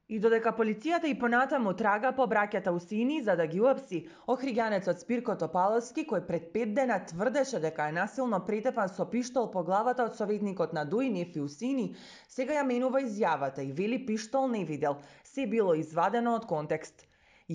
И додека полицијата и понатаму трага по браќата Усини за да ги уапси, охриѓанецот Спирко Топаловски, кој пред 5 дена тврдеше дека е насилно претепан со пиштол по главата од советникот на ДУИ Нефи Усини, сега ја менува изјавата и вели пиштол не видел, се било извадено од контекст.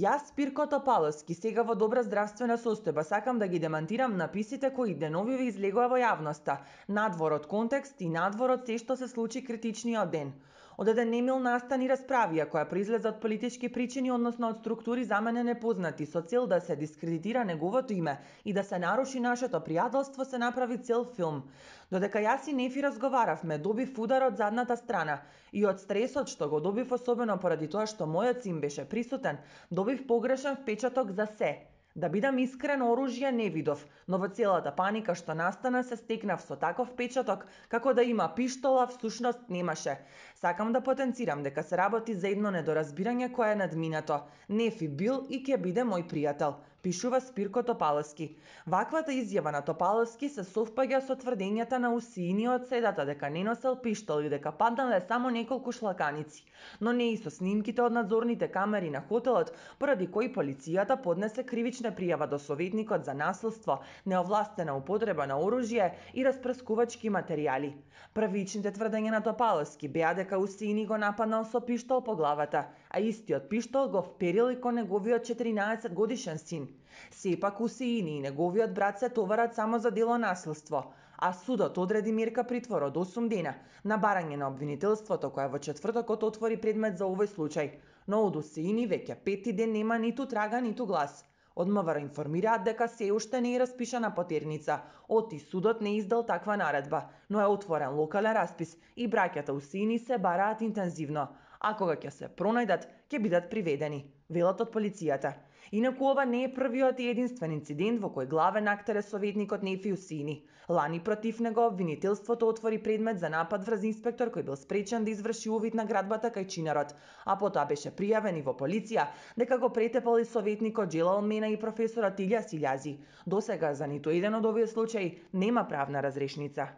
Јас, Спирко Топаловски, сега во добра здравствена состојба, сакам да ги демантирам написите кои деновиве излегува во јавноста, надвор од контекст и надвор од се што се случи критичниот ден. Од еден немил настан и расправија која произлезе од политички причини, односно од структури за мене непознати, со цел да се дискредитира неговото име и да се наруши нашето пријателство, се направи цел филм. Додека јас и Нефи разговаравме, добив удар од задната страна и од стресот што го добив, особено поради тоа што мојот син беше присутен, добив погрешен впечаток за се. Да бидам искрен, оружје не видов, но во целата паника што настана се стекнав со таков впечаток, како да има пиштола, всушност немаше. Сакам да потенцирам дека се работи за едно недоразбирање кое е надминато. Нефи бил и ќе биде мој пријател, пишува Спирко Топаловски. Ваквата изјава на Топаловски се совпаѓа со тврдењата на Усини од средата дека не носел пиштол и дека паднале само неколку шлаканици, но не и со снимките од надзорните камери на хотелот, поради кои полицијата поднесе кривична пријава до советникот за насилство, неовластена употреба на оружје и распрскувачки материјали. Првичните тврдења на Топаловски беа дека Усини го нападнал со пиштол по главата, а истиот пиштол го вперил и кон неговиот 14 годишен син. Сепак Усини и неговиот брат се товарат само за дело насилство, а судот одреди мерка притвор од 8 дена на барање на обвинителството кое во четвртокот отвори предмет за овој случај, но од Усини веќе 5-ти ден нема ниту трага, ниту глас. Од МВР информираат дека се уште не е распишана потерница, оти судот не издал таква наредба, но е отворен локален распис и браќата Усини се бараат интензивно, а кога ќе се пронајдат, ќе бидат приведени, велат од полицијата. Инаку ова не е првиот и единствен инцидент во кој главен актер е советникот Нефи Усини. Лани против него обвинителството отвори предмет за напад врз инспектор кој бил спречен да изврши увид на градбата кај Чинарот, а потоа беше пријавен и во полиција дека го претепал и советникот Джелал Мена и професорот Илјас Илјази. Досега за ниту еден од овие случаи нема правна разрешница.